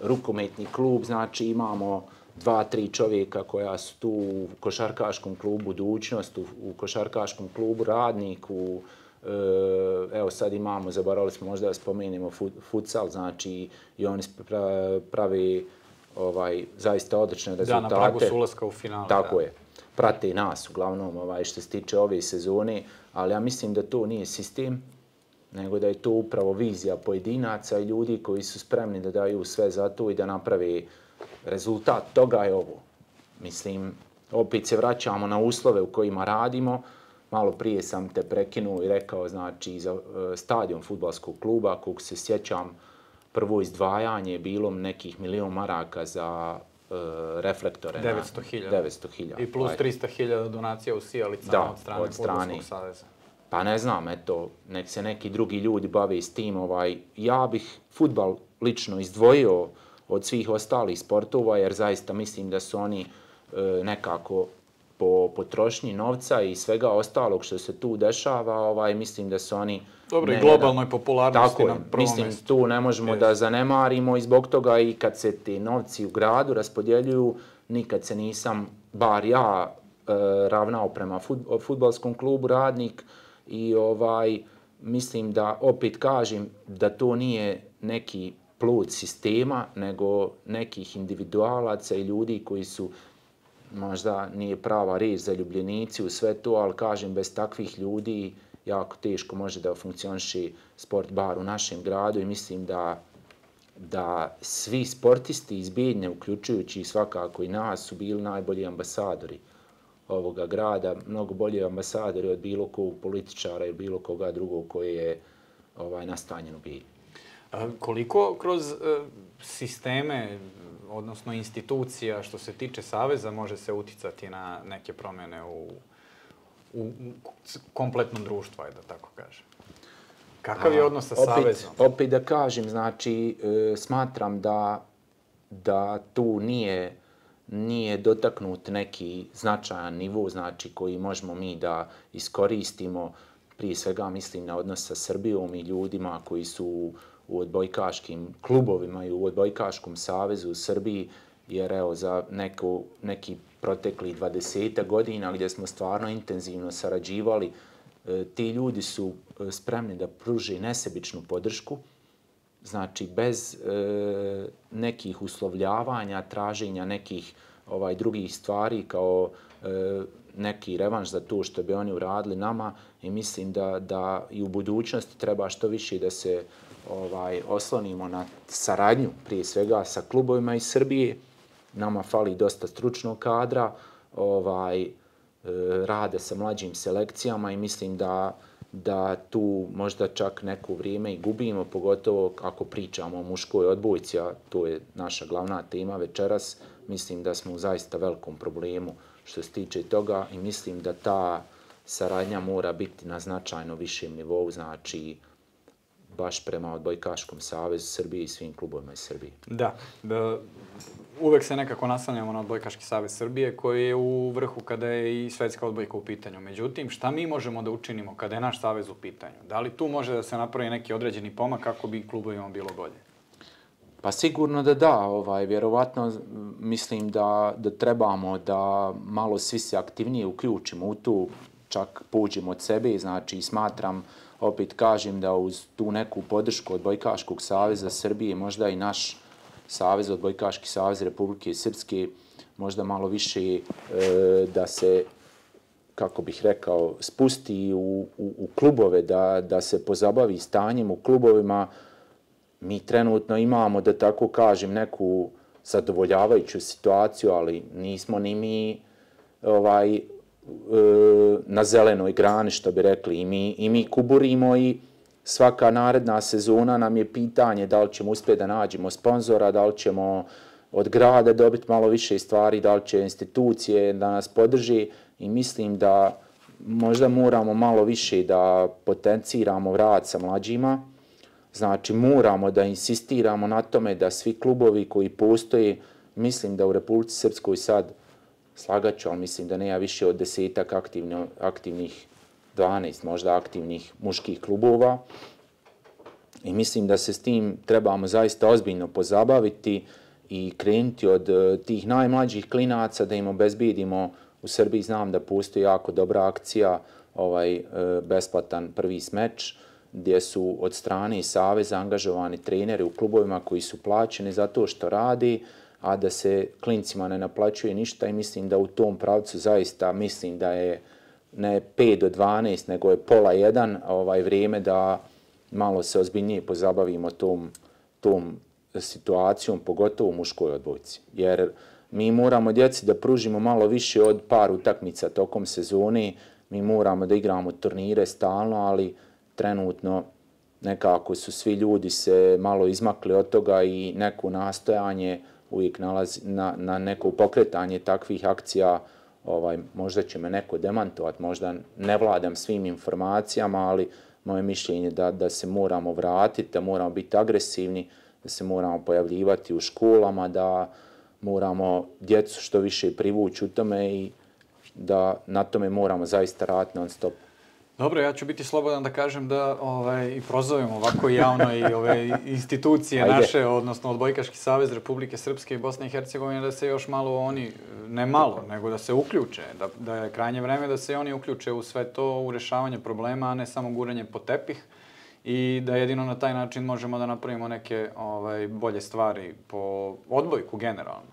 rukometni klub, znači imamo dva, tri čovjeka koja su tu u košarkaškom klubu Budućnost, u, u košarkaškom klubu Radnik, u, e, evo sad imamo, zaboravili smo možda da spomenemo fut, futsal, znači i oni pravi ovaj, zaista odlične rezultate. Da, na pragu su ulaska u finale. Tako da. je. Prate nas uglavnom ovaj, što se tiče ove sezone, ali ja mislim da to nije sistem, nego da je to upravo vizija pojedinaca i ljudi koji su spremni da daju sve za to i da naprave rezultat. Toga je ovo. Mislim, opet se vraćamo na uslove u kojima radimo. Malo prije sam te prekinuo i rekao, znači, za stadion fudbalskog kluba, kog se sjećam, prvo izdvajanje je bilo nekih milion maraka za uh, reflektore. devetsto hiljada. devetsto hiljada. I plus trista hiljada donacija u sijalicama da, od strane, od strane Fudbalskog saveza. Pa ne znam, eto, nek se neki drugi ljudi bave s tim. Ovaj, ja bih fudbal lično izdvojio od svih ostalih sportova, jer zaista mislim da su oni e, nekako po potrošnji novca i svega ostalog što se tu dešava, ovaj, mislim da su oni... Dobro, i globalnoj popularnosti na prvom mislim, mjestu. tu ne možemo yes. da zanemarimo i zbog toga i kad se ti novci u gradu raspodjeljuju, nikad se nisam, bar ja, e, ravnao prema fudbalskom klubu Radnik i ovaj, mislim da, opet kažem, da to nije neki plod sistema, nego nekih individualaca i ljudi koji su, možda nije prava riječ za ljubljenici u sve to, ali kažem, bez takvih ljudi jako teško može da funkcioniše sport bar u našem gradu i mislim da, da svi sportisti iz Bijeljine, uključujući svakako i nas, su bili najbolji ambasadori ovoga grada, mnogo bolji ambasadori od bilo kog političara ili bilo koga drugog koji je ovaj, nastanjen u Bijeljini. Koliko kroz sisteme, odnosno institucija, što se tiče Saveza, može se uticati na neke promjene u, u, u kompletnom društvu, ajde da tako kažem? Kakav je odnos sa opet, Savezom? Opet da kažem, znači, e, smatram da, da tu nije, nije dotaknut neki značajan nivo, znači, koji možemo mi da iskoristimo. Prije svega mislim na odnos sa Srbijom i ljudima koji su u odbojkaškim klubovima i u odbojkaškom savezu u Srbiji, jer evo za neko, neki protekli dvadesetak godina gdje smo stvarno intenzivno sarađivali, e, ti ljudi su spremni da pruže nesebičnu podršku, znači bez e, nekih uslovljavanja, traženja nekih ovaj drugih stvari kao e, neki revanš za to što bi oni uradili nama i mislim da, da i u budućnosti treba što više da se ovaj, oslonimo na saradnju, prije svega sa klubovima iz Srbije. Nama fali dosta stručnog kadra, ovaj, e, rade sa mlađim selekcijama i mislim da, da tu možda čak neko vrijeme i gubimo, pogotovo ako pričamo o muškoj odbojci, a to je naša glavna tema večeras. Mislim da smo u zaista velikom problemu što se tiče toga i mislim da ta saradnja mora biti na značajno višem nivou, znači baš prema Odbojkaškom savezu Srbije i svim klubovima iz Srbije. Da, da, uvek se nekako naslanjamo na Odbojkaški savez Srbije koji je u vrhu kada je i svetska odbojka u pitanju. Međutim, šta mi možemo da učinimo kada je naš savez u pitanju? Da li tu može da se napravi neki određeni pomak kako bi klubovima bilo bolje? Pa sigurno da da, ovaj, vjerovatno mislim da, da trebamo da malo svi se aktivnije uključimo u tu, čak pođemo od sebe, znači smatram, opet kažem da uz tu neku podršku Odbojkaškog saveza Srbije, možda i naš savez, Odbojkaški savez Republike Srpske, možda malo više e, da se, kako bih rekao, spusti u, u, u klubove, da, da se pozabavi stanjem u klubovima. Mi trenutno imamo, da tako kažem, neku zadovoljavajuću situaciju, ali nismo ni mi ovaj, na zelenoj grani, što bi rekli. I mi, i mi kuburimo i svaka naredna sezona nam je pitanje da li ćemo uspjeti da nađemo sponzora, da li ćemo od grada dobiti malo više stvari, da li će institucije da nas podrži i mislim da možda moramo malo više da potenciramo rad sa mlađima. Znači moramo da insistiramo na tome da svi klubovi koji postoje, mislim da u Republici Srpskoj sad slagaću, ali mislim da nema više od desetak aktivno, aktivnih, dvanaest možda aktivnih muških klubova. I mislim da se s tim trebamo zaista ozbiljno pozabaviti i krenuti od tih najmlađih klinaca da im obezbedimo. U Srbiji znam da postoji jako dobra akcija, ovaj besplatan prvi smeč, gdje su od strane saveza angažovani treneri u klubovima koji su plaćeni za to što radi, a da se klincima ne naplaćuje ništa i mislim da u tom pravcu zaista mislim da je ne pet do dvanaest, nego je pola jedan ovaj, vrijeme da malo se ozbiljnije pozabavimo tom, tom situacijom, pogotovo u muškoj odbojci. Jer mi moramo djeci da pružimo malo više od par utakmica tokom sezone, mi moramo da igramo turnire stalno, ali trenutno nekako su svi ljudi se malo izmakli od toga i neko nastojanje uvijek nalazi na, na neko pokretanje takvih akcija. Ovaj, možda će me neko demantovati, možda ne vladam svim informacijama, ali moje mišljenje da, da se moramo vratiti, da moramo biti agresivni, da se moramo pojavljivati u školama, da moramo djecu što više privući u tome i da na tome moramo zaista raditi non stop. Dobro, ja ću biti slobodan da kažem da ovaj, i prozovem ovako javno i ove institucije Ajde. naše, odnosno Odbojkaški savez Republike Srpske i Bosne i Hercegovine, da se još malo oni, ne malo, nego da se uključe, da, da je krajnje vreme da se oni uključe u sve to, u rješavanje problema, a ne samo guranje po tepih i da jedino na taj način možemo da napravimo neke ovaj, bolje stvari po odbojku generalno.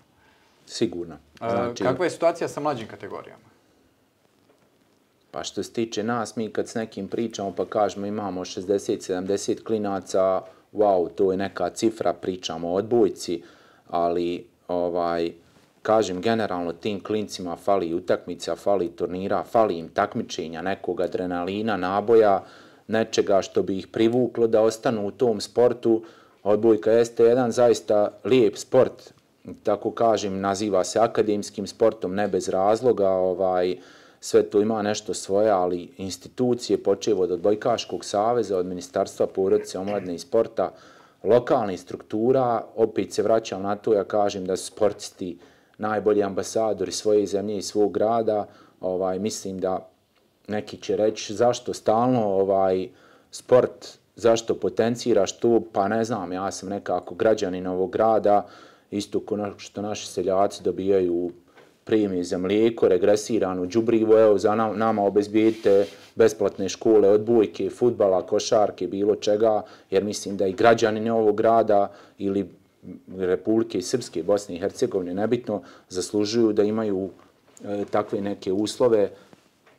Sigurno. Znači... Kakva je situacija sa mlađim kategorijama? Pa što se tiče nas, mi kad s nekim pričamo pa kažemo imamo šezdeset sedamdeset klinaca, wow, to je neka cifra, pričamo o odbojci, ali ovaj, kažem generalno tim klincima fali utakmica, fali turnira, fali im takmičenja, nekog adrenalina, naboja, nečega što bi ih privuklo da ostanu u tom sportu. Odbojka jeste jedan zaista lijep sport, tako kažem, naziva se akademskim sportom, ne bez razloga, ovaj, sve to ima nešto svoje, ali institucije, počev od Odbojkaškog saveza, od Ministarstva porodice, omladine i sporta, lokalnih struktura, opet se vraćam na to, ja kažem da su sportisti najbolji ambasadori svoje zemlje i svog grada. Ovaj, mislim da neki će reći zašto stalno ovaj, sport, zašto potenciraš to, pa ne znam, ja sam nekako građanin ovog grada, isto kao što naši seljaci dobijaju premije za mlijeko, regresirano đubrivo, evo za nama obezbijedite besplatne škole, odbojke, fudbala, košarke, bilo čega, jer mislim da i građani ovog grada ili Republike Srpske, Bosne i Hercegovine, nebitno, zaslužuju da imaju e, takve neke uslove.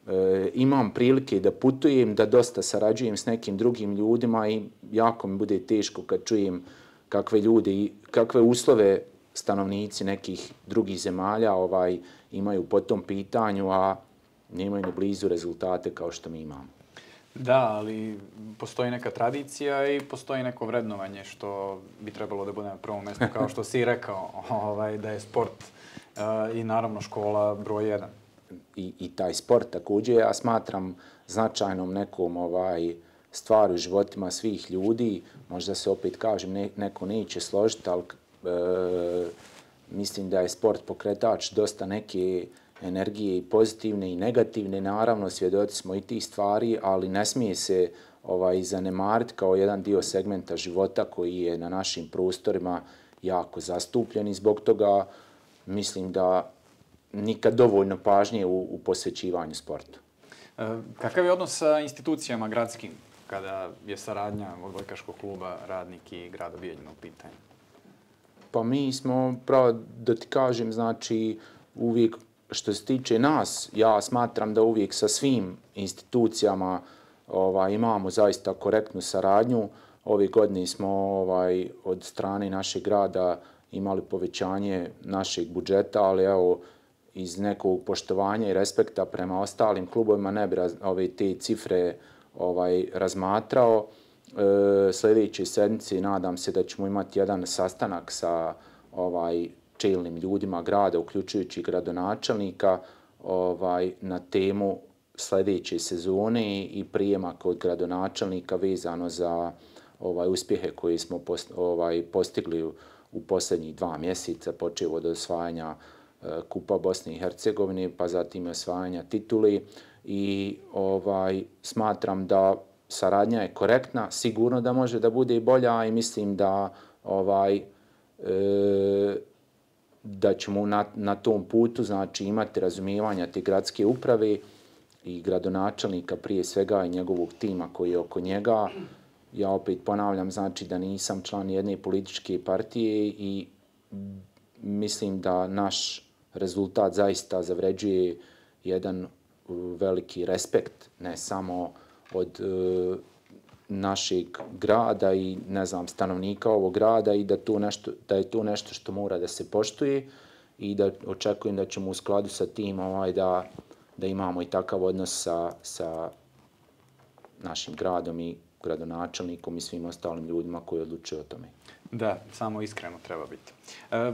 E, imam prilike da putujem, da dosta sarađujem s nekim drugim ljudima i jako mi bude teško kad čujem kakve ljudi, kakve uslove stanovnici nekih drugih zemalja ovaj, imaju po tom pitanju, a nemaju ni blizu rezultate kao što mi imamo. Da, ali postoji neka tradicija i postoji neko vrednovanje što bi trebalo da bude na prvom mjestu, kao što si rekao, ovaj, da je sport uh, i naravno škola broj jedan. I, i taj sport također ja smatram značajnom nekom ovaj, stvari u životima svih ljudi. Možda se opet kažem, ne, neko neće složiti, ali E, mislim da je sport pokretač dosta neke energije i pozitivne i negativne. Naravno, svjedoci smo i tih stvari, ali ne smije se ovaj, zanemariti kao jedan dio segmenta života koji je na našim prostorima jako zastupljen i zbog toga mislim da nikad dovoljno pažnje u, u posvećivanju sportu. E, kakav je odnos sa institucijama gradskim kada je saradnja Odbojkaškog kluba Radnik i grada Bijeljina u pitanju? Pa mi smo, pravo da ti kažem, znači uvijek što se tiče nas, ja smatram da uvijek sa svim institucijama ovaj, imamo zaista korektnu saradnju. Ove godine smo ovaj, od strane našeg grada imali povećanje našeg budžeta, ali evo, iz nekog poštovanja i respekta prema ostalim klubovima ne bi raz, ove te cifre ovaj, razmatrao. E, sljedeće sedmice nadam se da ćemo imati jedan sastanak sa ovaj, čelnim ljudima grada, uključujući gradonačelnika, ovaj, na temu sljedeće sezone i prijema kod gradonačelnika vezano za ovaj, uspjehe koje smo post, ovaj, postigli u, u posljednjih dva mjeseca, počeo od osvajanja e, Kupa Bosne i Hercegovine, pa zatim osvajanja tituli. I ovaj, smatram da saradnja je korektna, sigurno da može da bude i bolja i mislim da ovaj, e, da ćemo na, na tom putu znači, imati razumijevanja te gradske uprave i gradonačelnika prije svega i njegovog tima koji je oko njega. Ja opet ponavljam, znači da nisam član jedne političke partije i mislim da naš rezultat zaista zavređuje jedan veliki respekt, ne samo od e, našeg grada i ne znam, stanovnika ovog grada i da, to nešto, da je to nešto što mora da se poštuje i da očekujem da ćemo u skladu sa tim ovaj, da, da imamo i takav odnos sa, sa našim gradom i gradonačelnikom i svim ostalim ljudima koji odlučuju o tome. Da, samo iskreno treba biti. E,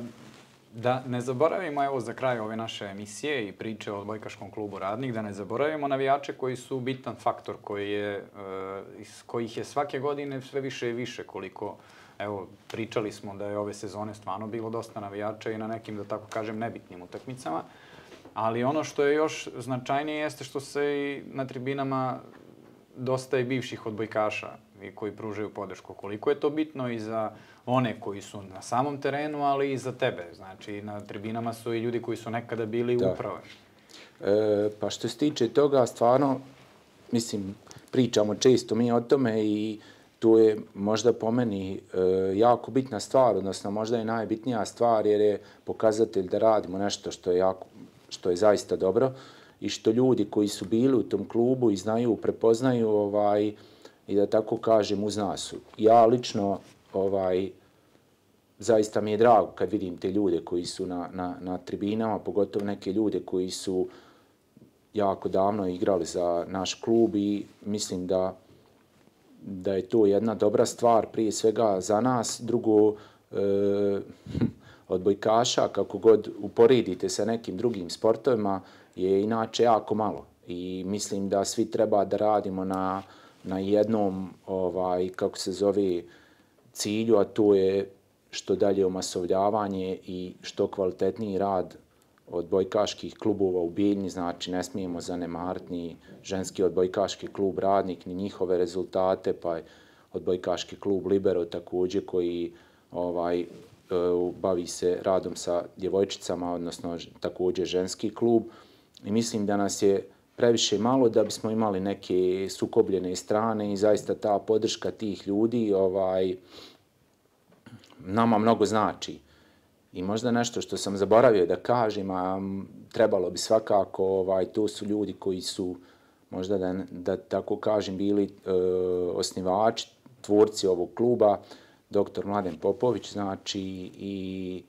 da ne zaboravimo, evo za kraj ove naše emisije i priče o odbojkaškom klubu Radnik, da ne zaboravimo navijače koji su bitan faktor, koji je, e, iz kojih je svake godine sve više i više, koliko, evo, pričali smo da je ove sezone stvarno bilo dosta navijača i na nekim, da tako kažem, nebitnim utakmicama, ali ono što je još značajnije jeste što se i na tribinama dosta i bivših odbojkaša koji pružaju podršku. Koliko je to bitno i za one koji su na samom terenu, ali i za tebe. Znači, na tribinama su i ljudi koji su nekada bili da. uprave. E, pa što se tiče toga, stvarno, mislim, pričamo često mi o tome i to je možda po meni e, jako bitna stvar, odnosno možda je najbitnija stvar jer je pokazatelj da radimo nešto što je, jako, što je zaista dobro i što ljudi koji su bili u tom klubu i znaju, prepoznaju ovaj, i da tako kažem uz nas. Ja lično ovaj, zaista mi je drago kad vidim te ljude koji su na, na, na tribinama, pogotovo neke ljude koji su jako davno igrali za naš klub i mislim da, da je to jedna dobra stvar prije svega za nas. Drugo, e, odbojkaša, kako god uporedite sa nekim drugim sportovima, je inače jako malo. I mislim da svi treba da radimo na, na jednom, ovaj, kako se zove, cilju, a to je što dalje omasovljavanje i što kvalitetniji rad odbojkaških klubova u Bijeljni. Znači, ne smijemo zanemariti ni ženski odbojkaški klub Radnik, ni njihove rezultate, pa odbojkaški klub Libero također koji ovaj, bavi se radom sa djevojčicama, odnosno također ženski klub. I mislim da nas je previše malo da bismo imali neke sukobljene strane i zaista ta podrška tih ljudi ovaj, nama mnogo znači. I možda nešto što sam zaboravio da kažem, a trebalo bi svakako, ovaj, to su ljudi koji su, možda da, da tako kažem, bili e, osnivači, tvorci ovog kluba, doktor Mladen Popović, znači i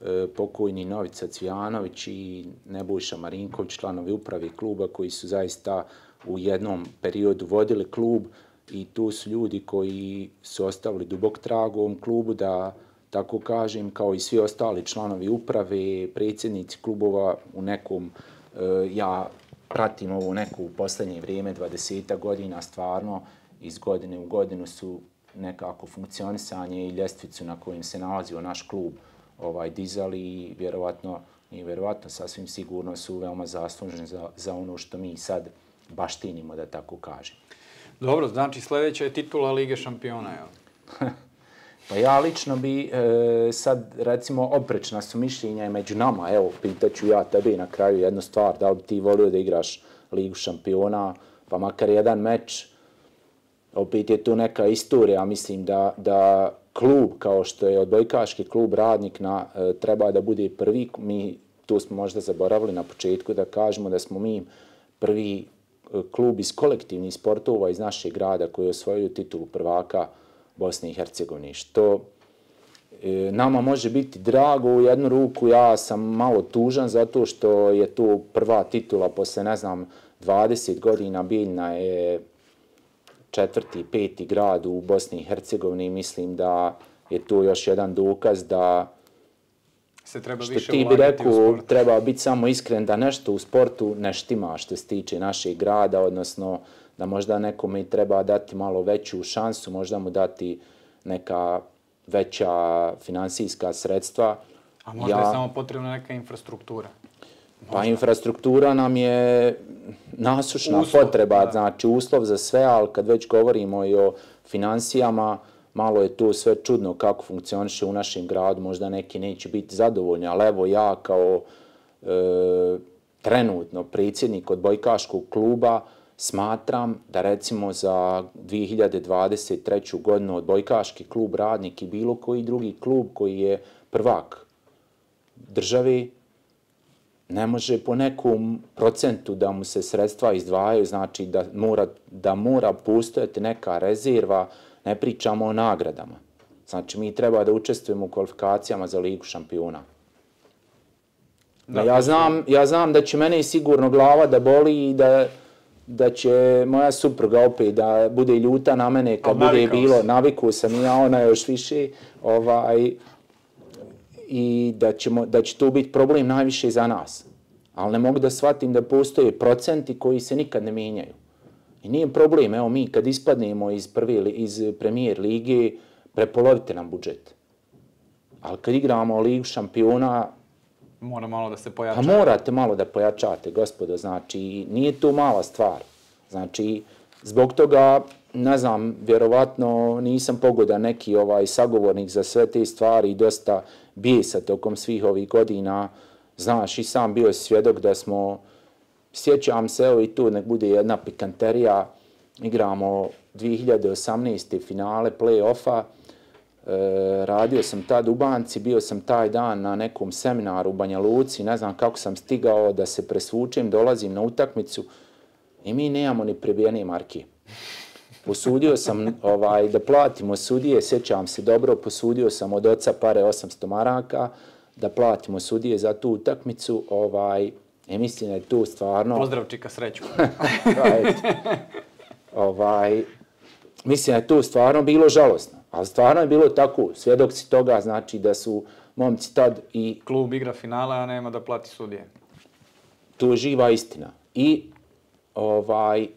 e, pokojni Novica Cvijanović i Nebojša Marinković, članovi uprave kluba koji su zaista u jednom periodu vodili klub i tu su ljudi koji su ostavili dubok trag u ovom klubu, da tako kažem, kao i svi ostali članovi uprave, predsjednici klubova u nekom, e, ja pratim ovo neku u posljednje vrijeme, dvadeset godina, stvarno iz godine u godinu su nekako funkcionisanje i ljestvicu na kojim se nalazio naš klub ovaj, dizali i vjerovatno, i vjerovatno sasvim sigurno su veoma zaslužni za, za ono što mi sad baštinimo, da tako kažem. Dobro, znači sljedeća je titula Lige šampiona, jel? Pa ja lično bi e, sad, recimo, oprečna su mišljenja među nama. Evo, pitaću ja tebe na kraju jednu stvar, da li bi ti volio da igraš Ligu šampiona, pa makar jedan meč. Opet je tu neka istorija, mislim da, da klub kao što je odbojkaški klub Radnik na, e, treba da bude prvi. Mi tu smo možda zaboravili na početku da kažemo da smo mi prvi klub iz kolektivnih sportova iz našeg grada koji osvojio titulu prvaka Bosne i Hercegovine, što e, nama može biti drago u jednu ruku. Ja sam malo tužan zato što je to prva titula posle, ne znam, dvadeset godina. Bijeljna je četvrti, peti grad u Bosni i Hercegovini i mislim da je to još jedan dokaz da se treba što više ti bi ulagati u rekao, sport. treba biti samo iskren da nešto u sportu ne štima što se tiče našeg grada, odnosno da možda nekome i treba dati malo veću šansu, možda mu dati neka veća finansijska sredstva. A možda ja, je samo potrebna neka infrastruktura. Možda. Pa infrastruktura nam je nasušna uslov, potreba, da. Znači uslov za sve, ali kad već govorimo i o finansijama, malo je tu sve čudno kako funkcioniše u našem gradu, možda neki neće biti zadovoljni, ali evo ja kao e, trenutno predsjednik odbojkaškog kluba smatram da recimo za dvije hiljade dvadeset treću. godinu odbojkaški klub Radnik i bilo koji drugi klub koji je prvak države ne može po nekom procentu da mu se sredstva izdvajaju, znači da mora, da mora postojati neka rezerva, ne pričamo o nagradama. Znači mi treba da učestvujemo u kvalifikacijama za Ligu šampiona. Da, ja, znam, ja znam da će mene sigurno glava da boli i da, da će moja supruga opet da bude ljuta na mene kad bude navikao bilo, si. Navikao sam i ja, ona još više, ovaj, i da, ćemo, da će to biti problem najviše za nas. Ali ne mogu da shvatim da postoje procenti koji se nikad ne mijenjaju. I nije problem, evo mi kad ispadnemo iz, prve, iz premijer lige, prepolovite nam budžet. Ali kad igramo Ligu šampiona, mora malo da se pojača. Pa morate malo da pojačate, gospodo, znači nije to mala stvar. Znači, zbog toga, ne znam, vjerovatno nisam pogodan neki ovaj sagovornik za sve te stvari i dosta bijesa tokom svih ovih godina. Znaš, i sam bio svjedok da smo, sjećam se, evo i tu nek bude jedna pikanterija, igramo dvije hiljade osamnaeste. finale play-offa, e, radio sam tad u banci, bio sam taj dan na nekom seminaru u Banja Luci, ne znam kako sam stigao da se presvučem, dolazim na utakmicu i mi nemamo ni prebijene marke. Posudio sam ovaj, da platimo sudije, sjećam se dobro, posudio sam od oca pare osamsto maraka, da platimo sudije za tu utakmicu, ovaj, i mislim da je tu stvarno... Pozdrav čika sreću. ovaj, mislim da je tu stvarno bilo žalosno, ali stvarno je bilo tako, svjedok si toga, znači da su momci tad i... Klub igra finale, a nema da plati sudije. Tu je živa istina. I, ovaj,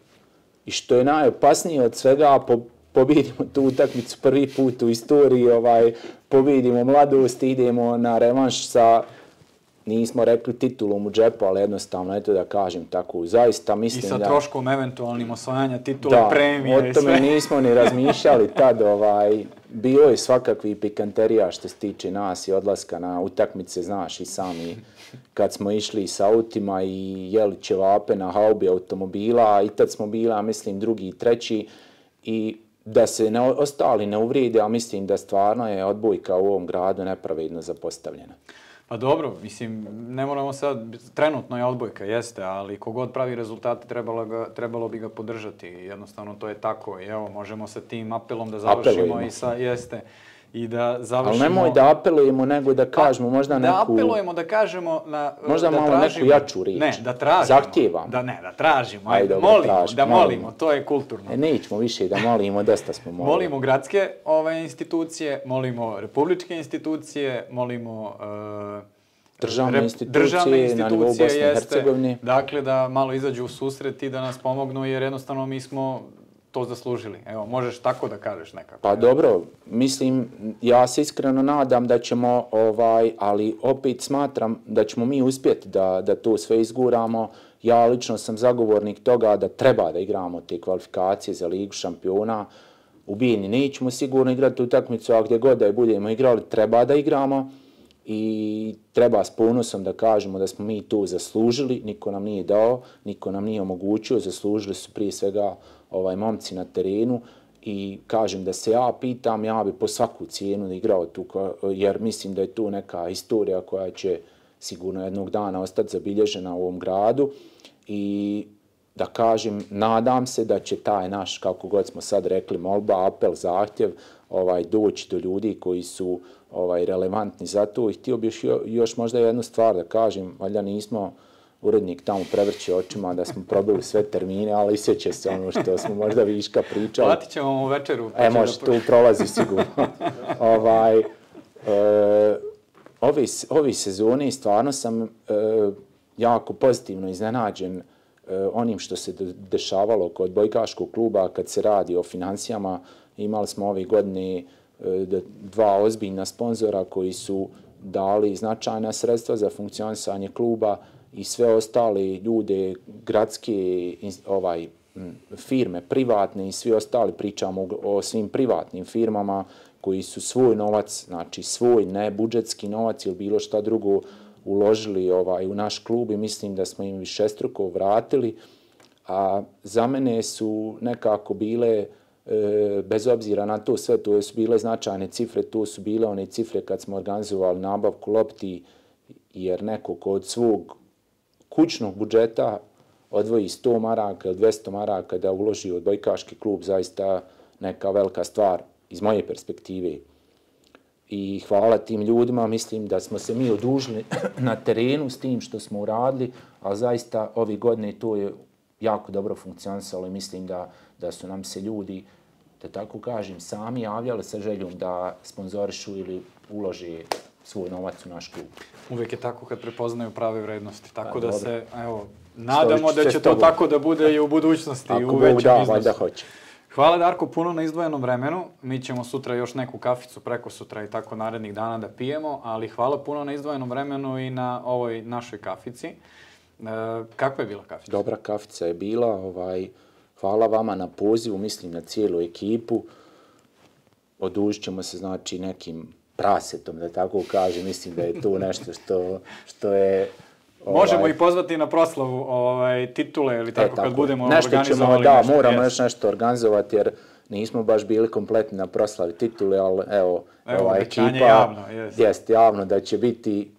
i što je najopasnije od svega, po, pobjedimo tu utakmicu prvi put u istoriji, ovaj, pobjedimo mladost, idemo na revanš sa, nismo rekli titulom u džepu, ali jednostavno, eto da kažem tako, zaista mislim da... I sa da, troškom eventualnim osvajanja titule, da, premije i o tome sve. nismo ni razmišljali tad, ovaj, bilo je svakakvi pikanterija što se tiče nas i odlaska na utakmice, znaš i sami kad smo išli sa autima i jeli ćevape na haubi automobila, i tad smo bila, mislim, drugi i treći, i da se ne, ostali ne uvrijede, a mislim da stvarno je odbojka u ovom gradu nepravedno zapostavljena. Pa dobro, mislim, ne moramo sad, trenutno je odbojka, jeste, ali kogod pravi rezultate trebalo, ga, trebalo bi ga podržati. Jednostavno to je tako i evo, možemo sa tim apelom da završimo. Apelujemo. I sa, jeste, i da završimo... Ali nemoj da apelujemo, nego da kažemo možda da neku... Da apelujemo, da kažemo... Na, možda da malo tražimo, neku jaču riječ. Ne, da tražimo. Zahtijevamo. Da ne, da tražimo. Ajde, dobro, molimo, tražimo, da molimo, molimo, to je kulturno. E, nećemo više da molimo, dosta smo molili. Molimo gradske ove institucije, molimo republičke institucije, molimo... Uh, Državne institucije, državne institucije na nivou Bosne i Hercegovine. Dakle, da malo izađu u susret i da nas pomognu, jer jednostavno mi smo to zaslužili. Evo, možeš tako da kažeš nekako. Pa dobro, mislim, ja se iskreno nadam da ćemo, ovaj, ali opet smatram da ćemo mi uspjeti da, da to sve izguramo. Ja lično sam zagovornik toga da treba da igramo te kvalifikacije za Ligu šampiona. U Bijeljni nećemo sigurno igrati utakmicu, a gdje god da je budemo igrali, treba da igramo. I treba s ponosom da kažemo da smo mi to zaslužili, niko nam nije dao, niko nam nije omogućio, zaslužili su prije svega ovaj momci na terenu i kažem da se ja pitam, ja bi po svaku cijenu igrao tu, jer mislim da je tu neka istorija koja će sigurno jednog dana ostati zabilježena u ovom gradu i da kažem, nadam se da će taj naš, kako god smo sad rekli, molba, apel, zahtjev, ovaj, doći do ljudi koji su ovaj, relevantni za to. I htio bih još, još možda jednu stvar da kažem, valjda nismo urednik tamo prevrće očima da smo probili sve termine, ali sjeća se ono što smo možda viška pričali. Platit ćemo vam večeru. E, može, tu prolazi sigurno. ovaj, e, ove, ove sezone stvarno sam e, jako pozitivno iznenađen e, onim što se dešavalo kod odbojkaškog kluba kad se radi o financijama. Imali smo ove godine e, dva ozbiljna sponzora koji su dali značajna sredstva za funkcionisanje kluba i sve ostale ljude, gradske ovaj, firme, privatne i svi ostali, pričamo o svim privatnim firmama koji su svoj novac, znači svoj ne budžetski novac ili bilo šta drugo uložili ovaj, u naš klub i mislim da smo im višestruko vratili. A za mene su nekako bile, e, bez obzira na to sve, to su bile značajne cifre, to su bile one cifre kad smo organizovali nabavku lopti, jer neko ko od svog kućnog budžeta odvoji sto maraka ili dvjesto maraka da uloži u odbojkaški klub, zaista neka velika stvar iz moje perspektive. I hvala tim ljudima, mislim da smo se mi odužili na terenu s tim što smo uradili, ali zaista ove godine to je jako dobro funkcionisalo i mislim da, da su nam se ljudi, da tako kažem, sami javljali sa željom da sponzorišu ili ulože svoj novac u naš klub. Uvijek je tako kad prepoznaju prave vrednosti, tako da se, evo, nadamo da će to tako da bude i u budućnosti i u većem iznosu. Hvala Darko puno na izdvojenom vremenu. Mi ćemo sutra još neku kaficu, preko sutra i tako narednih dana da pijemo, ali hvala puno na izdvojenom vremenu i na ovoj našoj kafici. E, kakva je bila kafica? Dobra kafica je bila. Ovaj, hvala vama na pozivu, mislim na cijelu ekipu. Odužit ćemo se znači nekim prasetom, da tako kažem. Mislim da je to nešto što, što je... Ovaj, možemo i pozvati na proslavu ovaj, titule ili tako, e, tako kad budemo nešto organizovali ćemo, da, nešto. Da, moramo još nešto organizovati jer nismo baš bili kompletni na proslavi titule, ali evo, evo ova ekipa javno, jest. jest javno da će biti,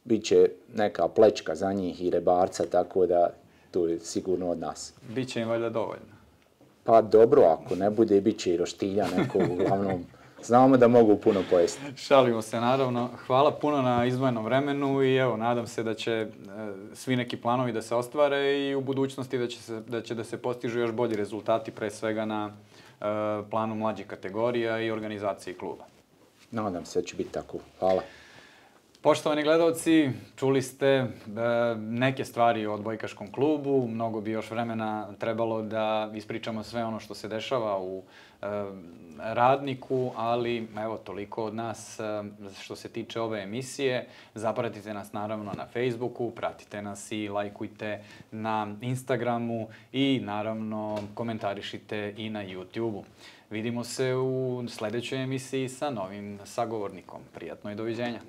bit će neka plečka za njih i rebarca, tako da to je sigurno od nas. Biće im valjda dovoljno. Pa dobro, ako ne bude, bit će i roštilja neko uglavnom. Znamo da mogu puno pojesti. Šalimo se, naravno. Hvala puno na izdvojenom vremenu i evo, nadam se da će e, svi neki planovi da se ostvare i u budućnosti da će, se, da će da se postižu još bolji rezultati, pre svega na e, planu mlađih kategorija i organizaciji kluba. Nadam se da će biti tako. Hvala. Poštovani gledalci, čuli ste e, neke stvari o odbojkaškom klubu. Mnogo bi još vremena trebalo da ispričamo sve ono što se dešava u e, Radniku, ali evo toliko od nas e, što se tiče ove emisije. Zapratite nas naravno na Facebooku, pratite nas i lajkujte na Instagramu i naravno komentarišite i na YouTubeu. Vidimo se u sljedećoj emisiji sa novim sagovornikom. Prijatno i doviđenja.